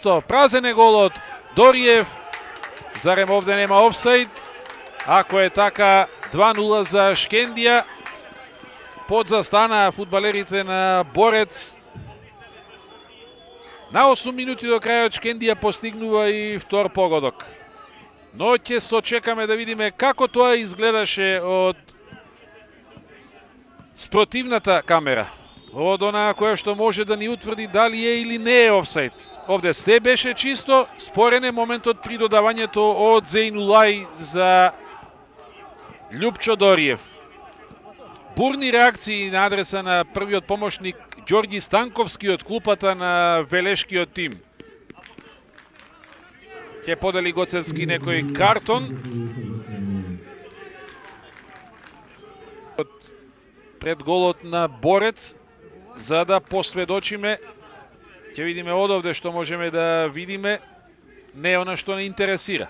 Пусто, празен е голот. Дориев, зарем овде нема офсайд? Ако е така, 2-0 за Шкендија. Подзастана фудбалерите на Борец. На 8 минути до крајот Шкендија постигнува и втор погодок. Но ќе сочекаме да видиме како тоа изгледаше од спротивната камера. Од онаа која што може да ни утврди дали е или не е офсайд. Овде се беше чисто, спорен е моментот при додавањето од Зејнулај за Љупчо Дориев. Бурни реакции на адреса на првиот помошник Ѓорѓи Станковски од клупата на Велешкиот тим. Ќе подели Гоцевски некој картон. Пред голот на Борец, за да посведочиме. Ќе видиме одовде што можеме да видиме. Не е она што не интересира.